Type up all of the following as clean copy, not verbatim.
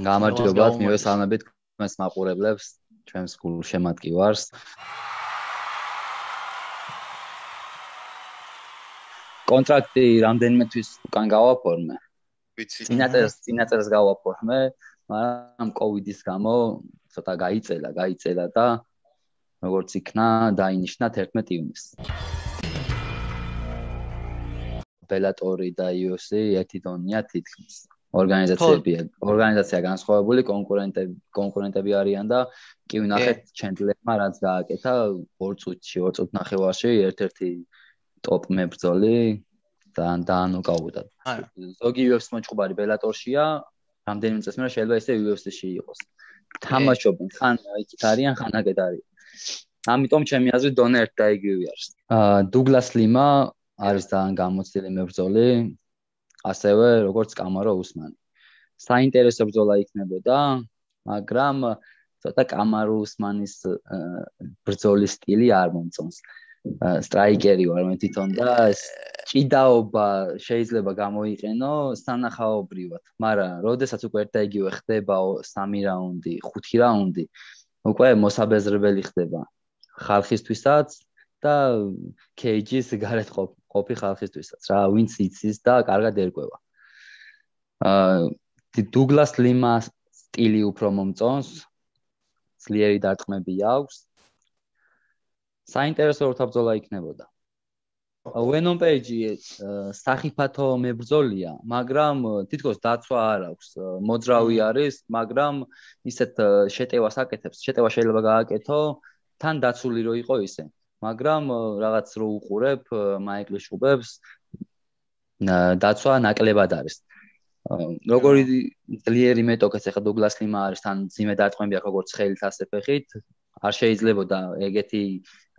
გამარჯობათ, მივესალმებით თქვენს მაყურებლებს, ჩვენს გულშემატკივარს. კონტრაქტი რამდენიმე თვის უკან გავაფორმე. წინაწერს გავაფორმე, მაგრამ კოვიდის გამო ცოტა გაიწელა და როგორც იქნა, დაინიშნა 11 ივნისს. ბელატორი და UFC ერთი დონეა თითქმის. ორგანიზაცია განსხვავებული, კონკურენტები არიან და კი ვნახეთ ჩენდლერმა რაც გააკეთა 2 წუთნახევარში ერთ-ერთი ტოპ მებრძოლი დაანოკაუტა. ზოგი UFC მოჭუბარი ბელატორშია, რამდენიმე წელს მერე შეიძლება ისე UFC-ში იყოს. თამაშობენ, ხან იქით არიან, ხან აქეთ არიან. ამიტომ ჩემი აზრით დონე ერთ და იგივე არის. დუგლას ლიმა არის ძალიან გამოცდილი მებრძოლი, ასევე როგორც კამარო უსმანი. საინტერესო ბრძოლა იქნებოდა, მაგრამ ცოტა კამარო უსმანის ბრძოლის სტილი არ მომწონს. სტრაიკერი ვარ მე თვითონ და ჭიდაობა შეიძლება გამოიყენო სანახაობრივად, მაგრამ როდესაც უკვე ერთ და იგივე ხდება 3 რაუნდი, 5 რაუნდი, უკვე მოსაბეზრებელი ხდება ხალხისთვისაც და кейჯის გარეთ ყოფი ხალხისთვისაც. რა, ვინც იცის და კარგად ერკვევა. დუგლას ლიმას სტილი უფრო მომწონს, ძლიერი დარტყმები აქვს. საინტერესო როთაბრძოლა იქნებოდა. ვენომ პეიჯი სახიფათო მებრძოლია, მაგრამ თითქოს დაცვა არ აქვს. მოძრავი არის, მაგრამ ისეთ შეტევას აკეთებს. შეტევა შეიძლება გააკეთო, თან დაცული რო იყო ისე. მაგრამ რაღაც რო უყურებ მაიკლ შუბებს, დაცვა ნაკლებად არის. როგორი ძლიერი მეტოქეს ახლა დუგლას ლიმა არის, თან ძიმე დარტყმები აქვს როგორც ხელით ასე ფეხით, არ შეიძლებოდა ეგეთი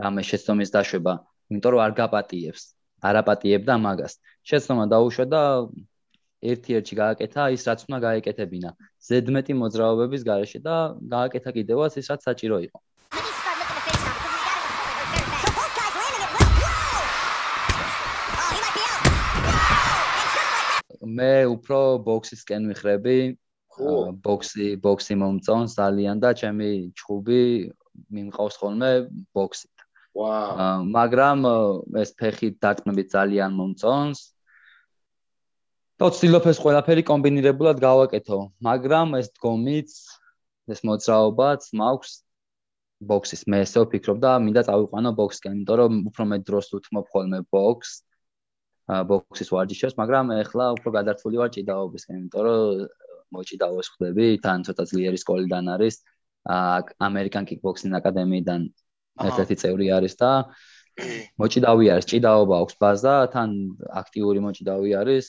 რამე შეცდომის დაშვება, იმიტომ რომ არ გაპატიებს, არ აპატიებდა მაგას. შეცდომა დაუშვა და ერთ-ერთში გააკეთა ის რაც უნდა გაეკეთებინა. ზედმეტი მოძრაობების გარეშე და გააკეთა კიდევაც ის რაც საჭირო იყო. მე უფრო ბოქსისკენ ვიხრები. ბოქსი მომწონს ძალიან და ჩემი ჩხუბი მიმყავს ხოლმე ბოქსით. მაგრამ ეს ფეხით დარტყმები ძალიან მომწონს. და ვცდილობ ეს ყველაფერი კომბინირებულად გავაკეთო, მაგრამ ეს დგომიც, ეს მოძრაობაც მაქვს ბოქსის. მე ესე ვფიქრობ და მინდა წავიყვანო ბოქსისკენ, იმიტომ რომ უფრო მეტ დროს ვთმობ ხოლმე ბოქსის ვარჯიშებს, მაგრამ ეხლა უფრო გადართული ვარ ჭიდაობისკენ, იმიტომ რომ მოჭიდავოს ხდები, თან ცოტა ძლიერი სკოლიდან არის, ამერიკან კიკბოქსინგ აკადემიიდან ერთ-ერთი წევრი არის და მოჭიდავი არის, ჭიდაობა აქვს ბაზა, თან აქტიური მოჭიდავი არის,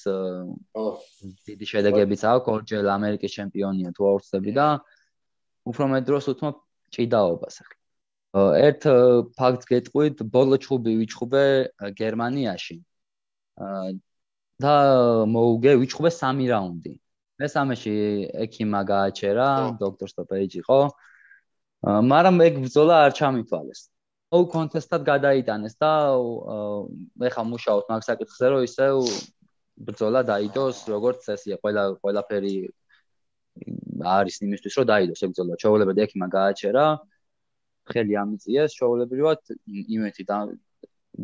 დიდი შედეგებიც აქვს, ორჯერ ამერიკის ჩემპიონია თუ აუხსნები და უფრო მეტ დროს ვთმობ ჭიდაობას. ერთ ფაქტს გეტყვით, ბოლო ჩხუბი ვიჩხუბე გერმანიაში. და ვიჩხუბე 3 რაუნდი. მესამეში ექიმა გააჩერა, დოქტორ სტოპეიჯი იყო. მაგრამ ეგ ბრძოლა არ ჩამითვალეს. კონტესტად გადაიტანეს და ეხა მუშაობთ მაგ საკითხზე, რომ ისევ ბრძოლა დაიდოს, როგორც წესია, ყველაფერი არის იმისთვის, რომ დაიდოს ეგ ბრძოლა. ჩაოლებად ექიმა გააჩერა, ხელი ამიწიეს, ჩაოლებრივად იმეთი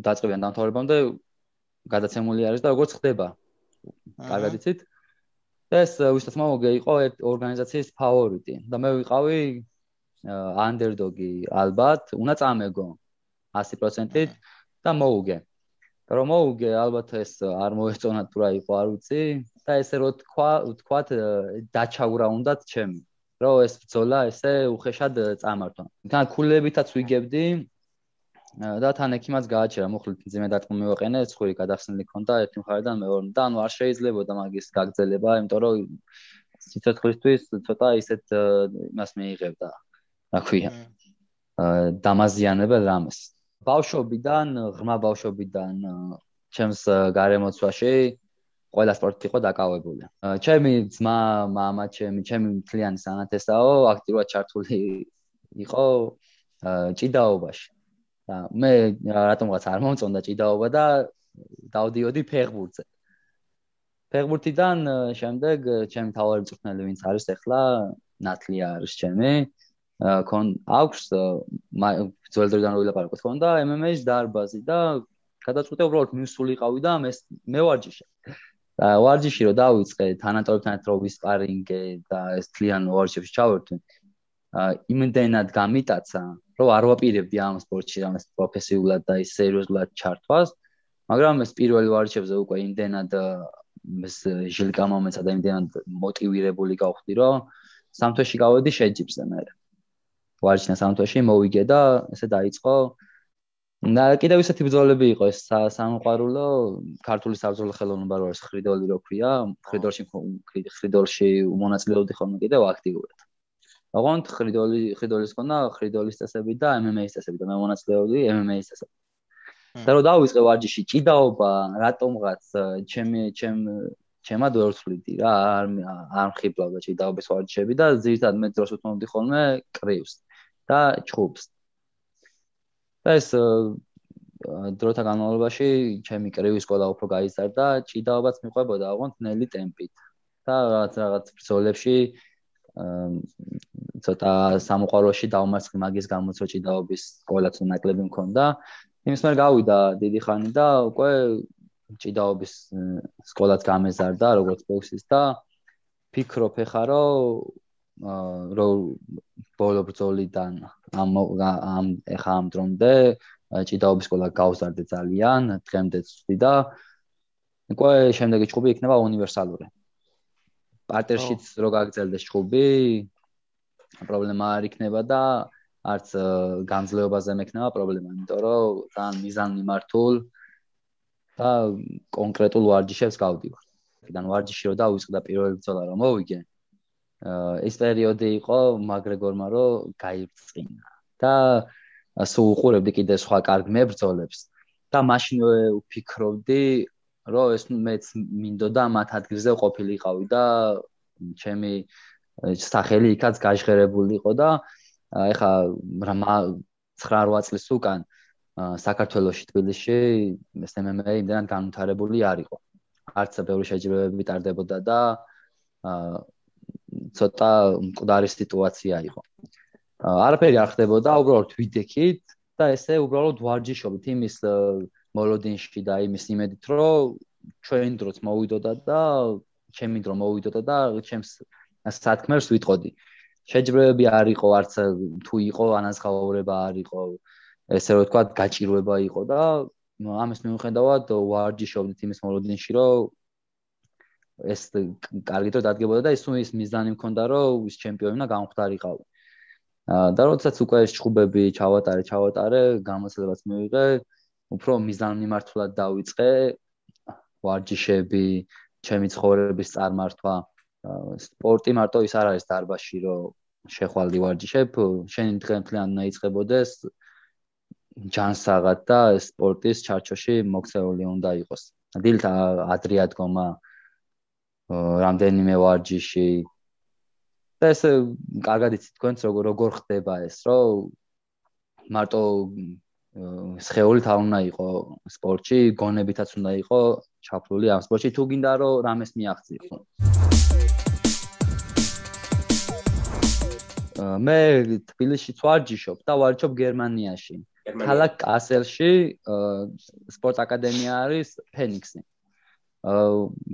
დაწყებიან დამთავრებამდე გადაცემული არის და როგორც ხდება. კარგად იცით? ეს ვისაც მოგე იყო ორგანიზაციის ფავორიტი და მე ვიყავი ანდერდოგი ალბათ, უნდა წამეგო 100%-ით და მოუგე. და რომ მოუგე, ალბათ ეს არ მოეწონა თუ რა იყო, არ ვიცი და ესე რო თქვათ დაჩაურა უნდათ ჩემი, რომ ეს ბრძოლა ესე უხეშად წამართვა. თან ქულებითაც ვიგებდი და თან ექიმაც გააჩერა, მოხლით ძიმე დარტყმა მივაყენე, ცხვირი გადახსნილი ქონდა ერთი მხარიდან მეორე. და ანუ არ შეიძლებოდა მაგის გაგრძელება, იმიტომ რომ სიცოცხლისთვის ცოტა ისეთ იმას მიიღებდა, რა ქვია, დამაზიანებელ რამეს. ღრმა ბავშვობიდან ჩემს გარემოცვაში ყველა სპორტით იყო დაკავებული. ჩემი ძმა, მამა, ჩემი მთლიანი სანათესაო აქტიურად ჩართული იყო ჭიდაობაში. და მე რატომღაც არ მომწონდა ჭიდაობა და დავდიოდი ფეხბურთზე. ფეხბურთიდან შემდეგ ჩემი თავარი მწვრთნელი ვინც არის ახლა ნათლია არის ჩემი აქვს ძველ დროიდან ვილაპარაკოთ ქონდა MMA-ის დარბაზი და გადაწყვიტე უბრალოდ მივსულიყავი და მე ვარჯიშე და ვარჯიში რო დავიწყე თანატორებთან ერთად ვისპარინგე და ეს თლიან ვარჯიშებში ჩავერთვი იმდენად გამიტაცა რომ არ ვაპირებდი ამ სპორტში რამეს პროფესიულად და ის სერიოზულად ჩართვას მაგრამ ეს პირველი ვარჯიშებზე უკვე იმდენად ეს ჟილკა მომეცა და იმდენად მოტივირებული გავხდი რომ სამთვეში გავედი შეჯიბზე მე ვარჯიშნა სამთვეში მოვიგე და ესე დაიწყო და კიდევ ისეთი ბრძოლები იყო ეს სამოყვარულო ქართული საბრძოლო ხელოვნება რო არის ხრიდოლი რო ქვია ხრიდოლში მონაწილეობდი ხოლმე კიდევ აქტიურად ოღონდ ხრიდოლის ქონა ხრიდოლის წესები და MMA-ის წესები და მე მონაწილეობდი MMA-ის წესები და რო დავიწყე ვარჯიში ჭიდაობა რატომღაც ჩემად ვერ ვთვლიდი რა არ მხიბლავდა ჭიდაობის ვარჯიშები და ზირთად მე დროს უთმობდი ხოლმე კრივს და ჩხუბს და ეს დროთა განმავლობაში ჩემი კრივის სკოლა უფრო გაიზარდა ჭიდაობაც მიყვებოდა ოღონდ ნელი ტემპით და რაღაც ბრძოლებში ცოტა სამოყვარულოში დავმარცხი მაგის გამოც რომ ჭიდაობის სკოლაც ნაკლები მქონდა იმის მერე გავიდა დიდი ხანი და უკვე ჭიდაობის სკოლაც გამეზარდა როგორც ბოქსის და ფიქრობ ეხა რომ ბოლო ბრძოლიდან ეხა ამ დრომდე ჭიდაობის სკოლა გავზარდე ძალიან დღემდეც ვწვდი და უკვე შემდეგი ჩხუბი იქნება უნივერსალური პარტერშიც რო გაგრძელდეს ჩხუბი პრობლემა არ იქნება და არც განძლეობაზე მექნება პრობლემა იმიტომ რომ ძალიან მიზანმიმართულ და კონკრეტულ ვარჯიშებს გავდივარ. Აქედან ვარჯიში რო დავიწყე და პირველი ბრძოლა რომ მოვიგე, ეს პერიოდი იყო მაგრეგორმა რომ გაიბწყინა და სულ უყურებდი კიდე სხვა კარგ მებრძოლებს და მაშინვე ვფიქრობდი რომ ეს მეც მინდოდა მათ ადგილზე ყოფილიყავი და ჩემი სახელი იქაც გაჟღერებული იყო და ეხა 9-8 წლის უკან საქართველოში თბილისში ეს MMA იმდენად განვითარებული არ იყო. არც ბევრი შეჯიბრებები ტარდებოდა და ცოტა მკვდარი სიტუაცია იყო. არაფერი არ ხდებოდა, უბრალოდ ვიდექით და ესე უბრალოდ ვარჯიშობთ იმის მოლოდინში და იმის იმედით, რომ ჩვენ დროც მოვიდოდა და ჩემი დრო მოვიდოდა და ჩემს სათქმელს ვიტყოდი. შეჯიბრებები არ იყო, არც თუ იყო ანაზღაურება არ იყო. ესე რომ თქვა გაჭირვება იყო და ამის მიუხედავად ვარჯიშობდით იმის მოლოდინში რომ ეს კარგი დრო დადგებოდა და ის მიზანი მქონდა რომ ის ჩემპიონი უნდა გამხვდარიყავი. და როდესაც უკვე ეს ჩხუბები ჩავატარე, გამოცდილებაც მივიღე, უფრო მიზანმიმართულად დავიწყე ვარჯიშები, ჩემი ცხოვრების წარმართვა. სპორტი მარტო ის არ არის დარბაზში რომ შეხვალდი ვარჯიშებ, შენი დღე მთლიანი უნდა იწყებოდეს ჯანსაღად და სპორტის ჩარჩოში მოქცეული უნდა იყოს. დილით ადრე ადგომა რამდენიმე ვარჯიში და ეს კარგად იცით თქვენც როგორ ხდება ეს რომ მარტო სხეულით არ უნდა იყო სპორტში, გონებითაც უნდა იყო ჩაფლული ამ სპორტში თუ გინდა რომ რამეს მიაღწიო. მე თბილისშიც ვარჯიშობ და ვარჯიშობ გერმანიაში. ქალაქ კასელში სპორტ აკადემია არის ფენიქსი.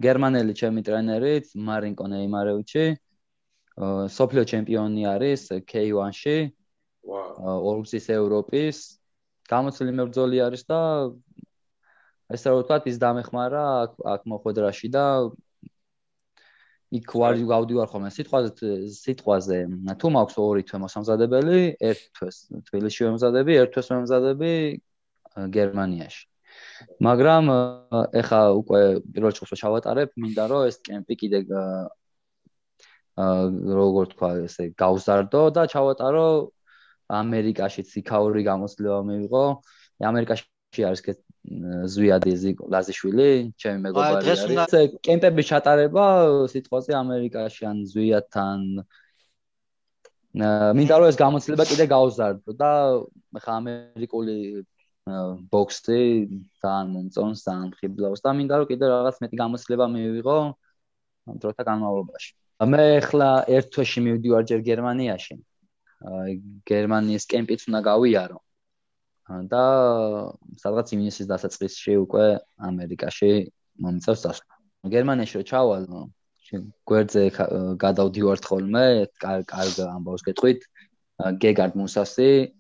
გერმანელი ჩემი ტრენერიც მარინკო ნეიმარევიჩი. სოფლიო ჩემპიონი არის K1-ში. ორგზის ევროპის გამოცილი მებრძოლი არის და ესე რომ ვთქვათ ის დამეხმარა აქ მოხვედრაში და იქ გავდივარ ხოლმე სიტყვაზე თუ მაქვს ორი თვე მოსამზადებელი, ერთ თვეს თბილისში ვემზადები, ერთ თვეს ვემზადები გერმანიაში. მაგრამ ეხა უკვე პირველ ჩხუბს ჩავატარებ, მინდა რომ ეს კემპი კიდე როგორ თქვა ესე გავზარდო და ჩავატარო ამერიკაშიც იქაური გამოცდილება მივიღო. ამერიკაში არის ზვიადი ლაზიშვილი, ჩემი მეგობარი არის. კემპების ჩატარება სიტყვაზე ამერიკაში ან ზვიადთან. მინდა რომ ეს გამოცდილება კიდე გავზარდო და ხა ამერიკული ბოქსი ძალიან მომწონს, ძალიან ხიბლავს და მინდა რომ კიდე რაღაც მეტი გამოცდილება მივიღო ამ დროთა განმავლობაში. მე ახლა ერთ თვეში მივდივარ ჯერ გერმანიაში. გერმანიის კემპიც უნდა გავიარო. და სადღაც ივნისის დასაწყისში უკვე ამერიკაში მომწევს წასვლა. გერმანიაში რო ჩავალ, გვერდზე გადავდივართ ხოლმე, კარგ ამბავს გეტყვით, გეგარდ მუსასი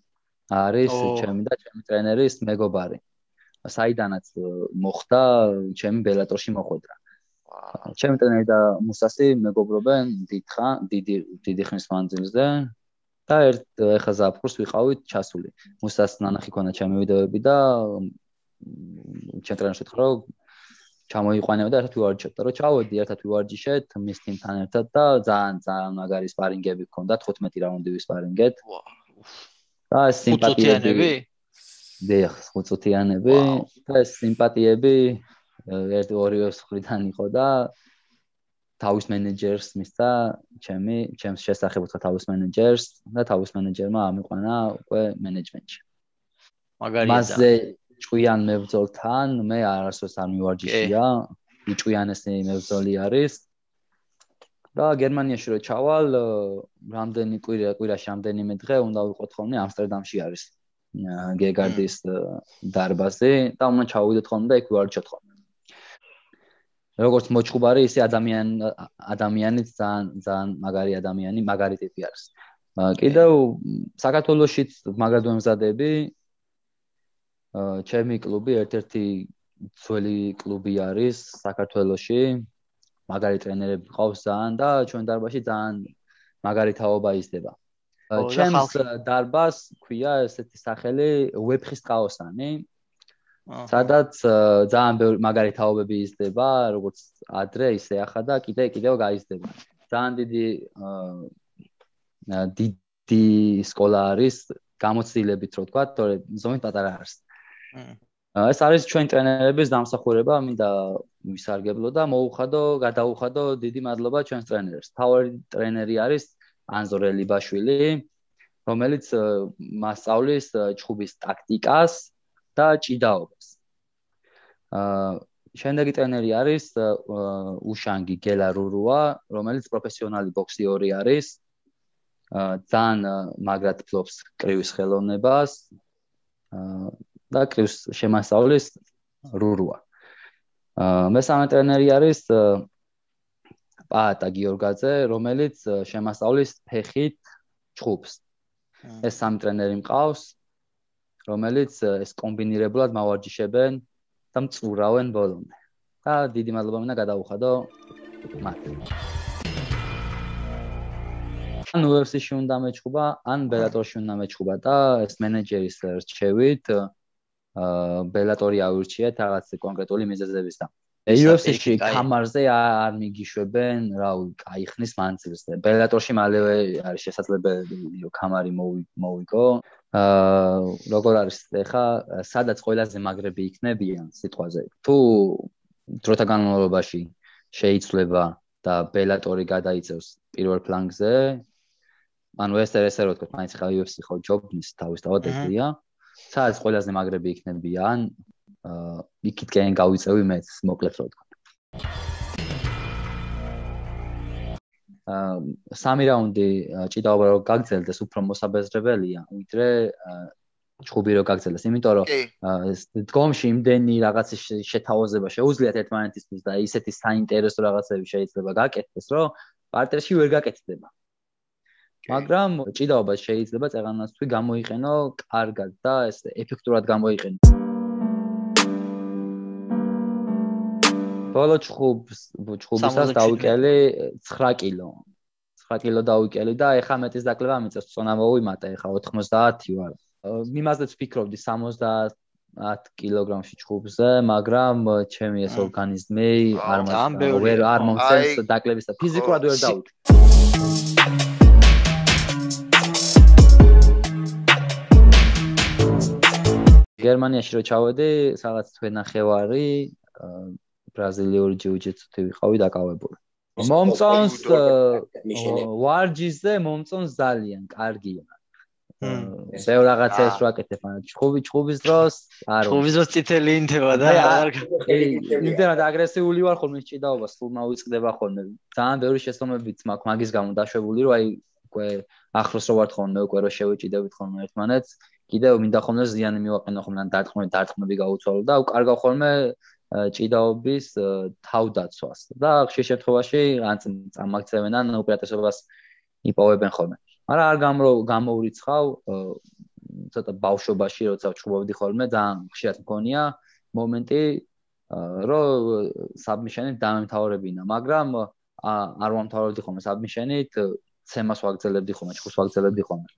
არის ჩემი და ჩემი ტრენერის მეგობარი. საიდანაც მოხდა, ჩემი ბელატორში მოხვედრა. ჩემი ტრენერი და მუსასი მეგობრობენ დიდი ხნის მანძილზე და ეხა ზაფხულს ვიყავით ჩასული. მუსას ნანახი ქონა ჩემი ვიდეოები და ჩემ ტრენერს ვეთქვა რომ ჩამოიყვანება და ერთად ვივარჯიშოთ. და რომ ჩავედი ერთად ვივარჯიშეთ მის თიმთან ერთად და ძალიან მაგარი სპარინგები ჰქონდათ 15 რაუნდი ვისპარინგეთ. და სიმპათიები დიახ, 5 წუთიანები და სიმპათიები ორივე მხრიდან იყო და თავის მენეჯერს მისცა ჩემს შესახებ უთხრა თავის მენეჯერს და თავის მენეჯერმა ამიყვანა უკვე მენეჯმენტში. მაგარია. მასზე ჭკვიან მებრძოლთან მე არასდროს არ მივარჯიშია, ჭკვიანესი მებრძოლი არის. და გერმანიაში რო ჩავალ, რამდენი კვირაში რამდენიმე დღე უნდა ვიყოთ ხოლმე ამსტერდამში არის გეგარდის დარბაზი და უნდა ჩავიდეთ ხოლმე და იქ ვივარჯიშოთ ხოლმე. როგორც მოჭუბარი, ისე ადამიანიც ძალიან მაგარი ადამიანი, მაგარი ტიპი არის. კიდევ საქართველოშიც მაგრად ვემზადები. ჩემი კლუბი ერთ-ერთი ძველი კლუბი არის საქართველოში. მაგარი ტრენერები ყავს ძალიან და ჩვენ დარბაზში ძალიან მაგარი თაობა იზრდება. ჩემს დარბაზს ქვია ესეთი სახელი ვეფხის ტყაოსანი. სადაც ძალიან ბევრი მაგარი თაობები იზრდება, როგორც ადრე, ისე ახლა და კიდევ გაიზრდება. ძალიან დიდი სკოლა არის გამოცდილებით, რო ვთქვა, თორე ზომით პატარა არის. ეს არის ჩვენ ტრენერების დამსახურება, მინდა ვისარგებლო და გადაუხადო დიდი მადლობა ჩვენს ტრენერებს. თავი ტრენერი არის ანზორ ელიბაშვილი, რომელიც მასწავლის ჩხუბის ტაქტიკას და ჭიდაობას. შემდეგი ტრენერი არის უშანგი გელა რურუა, რომელიც პროფესიონალი ბოქსიორი არის. ძალიან მაგრად ფლობს კრივის ხელოვნებას და კრივს შემასწავლის რურუა. მესამე ტრენერი არის პაატა გიორგაძე, რომელიც შემასწავლის ფეხით ჩხუბს. ეს სამი ტრენერი მყავს, რომელიც ეს კომბინირებულად მავარჯიშებენ და მწურავენ ბოლომდე. და დიდი მადლობა მინდა გადაუხადო მათ. ან UFC-ში უნდა მეჩხუბა, ან ბელატორში უნდა მეჩხუბა და ეს მენეჯერის რჩევით ბელატორი ავირჩიეთ რაღაც კონკრეტული მიზეზებისგან. UFC-ში კამარზე არ მიგიშვებენ, კაი ხნის მანძილზე. ბელატორში მალევე არის შესაძლებელი რომ კამარი მოვიგო. როგორ არის ეხა, სადაც ყველაზე მაგრები იქნებიან სიტყვაზე. თუ დროთა განმავლობაში შეიცვლება და ბელატორი გადაიწევს პირველ ფლანგზე, ანუ ეს რო ვთქვათ, მაინც ხა UFC ხო ჯობნის თავისთავად ეგრეა. სადაც ყველაზე მაგრები იქნებიან, იქითკენ გავიწევი მეც, მოკლედ რო ვთქვათ. სამი რაუნდი ჭიდაობა რო გაგრძელდეს, უფრო მოსაბეზრებელია, ვიდრე ჩხუბი რო გაგრძელდეს, იმიტომ რომ დგომში იმდენი რაღაცის შეთავაზება შეუძლიათ ერთმანეთისთვის და ისეთი საინტერესო რაღაცები შეიძლება გაკეთდეს, რომ პარტერში ვერ გაკეთდება. მაგრამ ჭიდაობა შეიძლება წეღანას თუ გამოიყენო კარგად და ეს ეფექტურად გამოიყენო. ბოლო ჩხუბისას დავიკელი 9 კილო. 9 კილო დავიკელი და ეხა მეტის დაკლება მიწევს, წონა მოვიმატა, ეხა 90 ვარ. იმაზეც ვფიქრობდი 70 კილოგრამში ჩხუბზე, მაგრამ ჩემი ეს ორგანიზმი არ მომწევს დაკლების და ფიზიკურად ვერ დავიკე. გერმანიაში რო ჩავედი, რაღაც თვენახევარი ბრაზილიური ჯიუ-ჯიტსუთი ვიყავი დაკავებული. მომწონს ვარჯიშზე, მომწონს ძალიან, კარგია. ბევრ რაღაცას რო აკეთებ, ჩხუბის დროს არ ჩხუბის დროს წითელი ინთება და იმდენად აგრესიული ვარ ხოლმე ჭიდაობას სულ მოვიწყდება ხოლმე. ძალიან ბევრი შეცდომებიც მაქვს მაგის გამო დაშვებული, რომ აი უკვე ახლოს რო ვართ ხოლმე, უკვე რო შევეჭიდებით ხოლმე ერთმანეთს, კიდევ მინდა ხოლმე ზიანი მივაყენო ხოლმე, დარტყმები გაუცვალო და უკარგავ ხოლმე ჭიდაობის თავდაცვას და ხშირ შემთხვევაში ან წამაქცევენ ან უპირატესობას იპოვებენ ხოლმე. მაგრამ არ გამოვრიცხავ ცოტა ბავშვობაში როცა ვჩხუბობდი ხოლმე ძალიან ხშირად მქონია მომენტი რომ საბმიშენით დამემთავრებინა, მაგრამ არ ვამთავრებდი ხოლმე საბმიშენით, ცემას ვაგრძელებდი ხოლმე, ჩხუბს ვაგრძელებდი ხოლმე.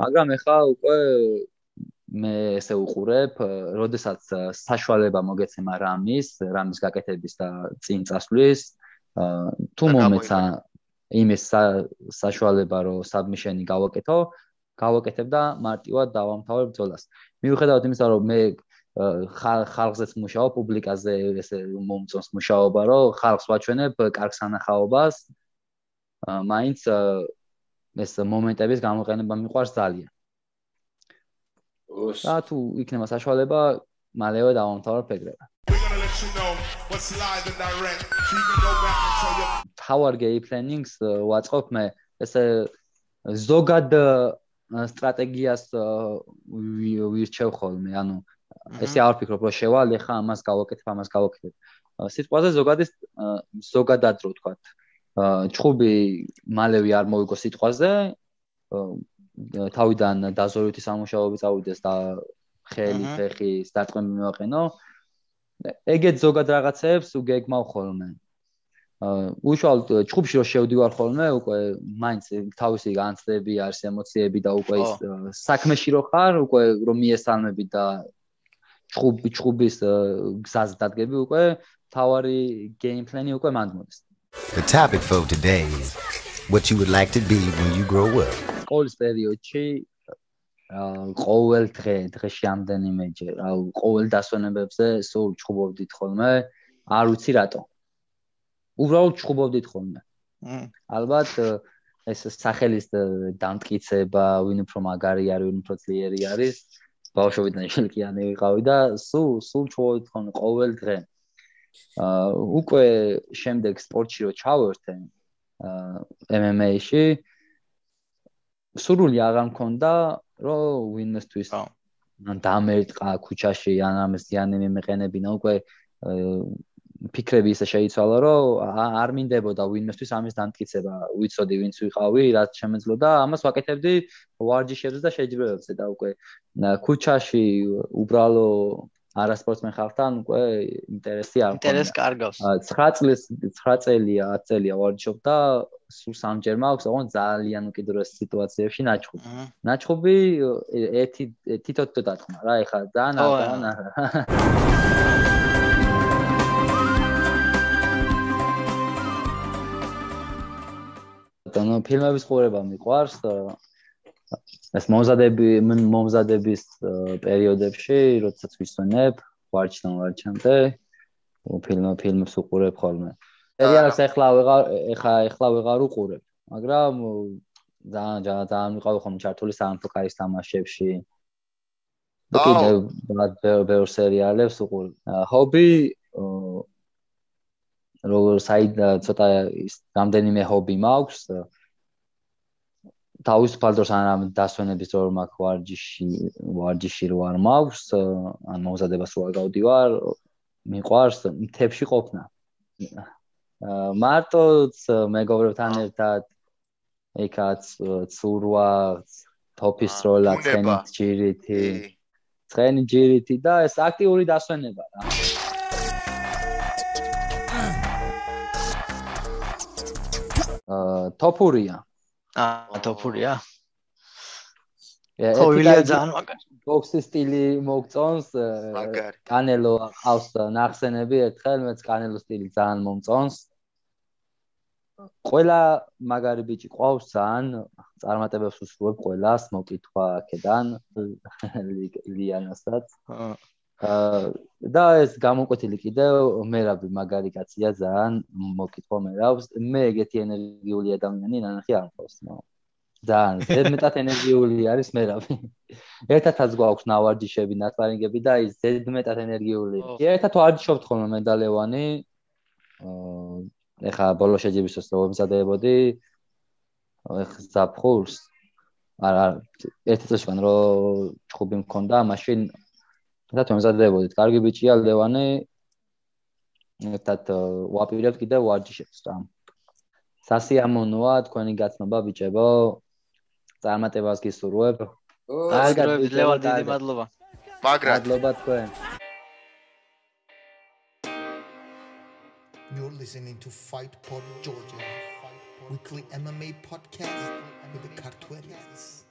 მაგრამ ეხლა უკვე მე ესე უყურებ, როდესაც საშუალება მოგეცემა რამის გაკეთების და წინ წასვლის, თუ მომეცა იმის საშუალება რომ საბმიშენი გავაკეთებ და მარტივად დავამთავრებ ბრძოლას. მიუხედავად იმისა, რომ მე ხალხზეც მუშაობ, პუბლიკაზე ესე მომწონს მუშაობა, რომ ხალხს ვაჩვენებ კარგ სანახაობას, მაინც ეს მომენტების გამოყენება მიყვარს ძალიან. და თუ იქნება საშუალება, მალევე დავამთავრებ ეგრევე. Power game plannings ვაწყობ მე ესე ზოგად სტრატეგიას ვირჩევ ხოლმე, ანუ ესე არ ვფიქრობ რომ შევალ ეხა ამას გავაკეთებ. სიტყვაზე ზოგადად რო ვთქვათ. ჩხუბი მალევე არ მოვიგო სიტყვაზე, თავიდან დაზორივი სამუშაოები წავიდეს და ხელი, ფეხი, დარტყმები მივაყენო. ეგეთ ზოგად რაღაცებს უგეგმავ ხოლმე. უშუალოდ ჩხუბში რო შევდივარ ხოლმე, უკვე მაინც თავისი განცდები არის, ემოციები და უკვე ის საქმეში რო ხარ, უკვე რომ მიესალმები და ჩხუბის გზაზე დადგები, უკვე თავარი game plan-ი უკვე მანდ მოდის. The topic for today is what you would like to be when you grow up. სკოლის პერიოდში ყოველ დღეში ამდენიმეჯერ, ყოველ დასვენებებზე სულ ჩხუბობდით ხოლმე, არ ვიცი რატო. უბრალოდ ჩხუბობდით ხოლმე. ალბათ ეს სახელის დამტკიცება, ვინ უფრო მაგარი არის, ვინ უფრო ძლიერი არის, ბავშვობიდან შელკიანი ვიყავი და სულ ჩხუბობდით ხოლმე ყოველ დღე. უკვე შემდეგ სპორტში რო ჩავერთე MMA-ში სურვილი აღარ მქონდა რომ ვინმესთვის ან დამერტყა ქუჩაში ან ამას ზიანი მიმეყენებინა, უკვე ფიქრები ისე შეიცვალა რომ არ მინდებოდა ვინმესთვის ამის დამტკიცება, ვიცოდი ვინც ვიყავი, რაც შემეძლოდა, ამას ვაკეთებდი ვარჯიშებზე და შეჯიბრებებზე და უკვე ქუჩაში უბრალო არასპორტსმენ ხალხთან უკვე ინტერესი არ მქონდა. ინტერესი კარგავს. 9 წელია, 10 წელია ვარჯიშობ და სულ სამჯერ მაქვს, ოღონდ ძალიან უკიდურეს სიტუაციებში ნაჩხუბი. ნაჩხუბი თითო დათქმა რა, ეხლა ძალიან ანუ ფილმების ყურება მიყვარს. ეს მომზადების პერიოდებში, როდესაც ვისვენებ, ვარჯიშამდე, ფილმებს უყურებ ხოლმე. სერიალს ეხლა ვეღარ უყურებ, მაგრამ ძალიან ვიყავი ხოლმე ჩართული სამეფო კარის თამაშებში. და კიდევ ბევრ სერიალებს უყურებ. ჰობი როგორ ცოტა რამდენიმე ჰობი მაქვს. თავისუფალ დროს ან დასვენების დრო მაქვს ვარჯიში რო არ მაქვს, ან მომზადებას რო არ გავდივარ, მიყვარს მთებში ყოფნა. მარტოც მეგობრებთან ერთად ეკაც ცურვა, თოფისროლა, ცხენი ჯირითი და ეს აქტიური დასვენება რა. თოფურია. თოფურია. ეთიკა ძალიან მაგარი. ბოქსის სტილი მოგწონს. კანელო ყავს ნახსენები ერთხელ, მეც კანელოს სტილი ძალიან მომწონს. ყველა მაგარი ბიჭი ყავს ძალიან, წარმატებებს უსურვებ ყველას, მოკითხვა აქედან ლიანასაც. და ეს გამოკვეთილი კიდევ მერაბი მაგარი კაცია ძალიან, მოკითხვა მერავს. მე ეგეთი ენერგიული ადამიანი ნანახი არ მყავს. ძალიან ზედმეტად ენერგიული არის მერავი. ერთადაც გვაქვს ნავარჯიშები, ნასპარინგები და ის ზედმეტად ენერგიული. ერთად ვარჯიშობთ ხოლმე მე და ლევანი. ეხა ბოლო შეჯიბრისას რო ვემზადებოდი, ეხა ზაფხულს არა ერთი წელსგან რო ჩხუბი მქონდა, მაშინ ერთად ვემზადებოდით. კარგი ბიჭია ლევანი. ერთად ვაპირებთ კიდევ ვარჯიშებს რა. სასიამოვნოა თქვენი გაცნობა ბიჭებო. წარმატებას გისურვებ. კარგად ლევან დიდი მადლობა. მაგრად. მადლობა თქვენ. You're listening to Fight Pod Georgia, weekly MMA podcast with the Cartuelians.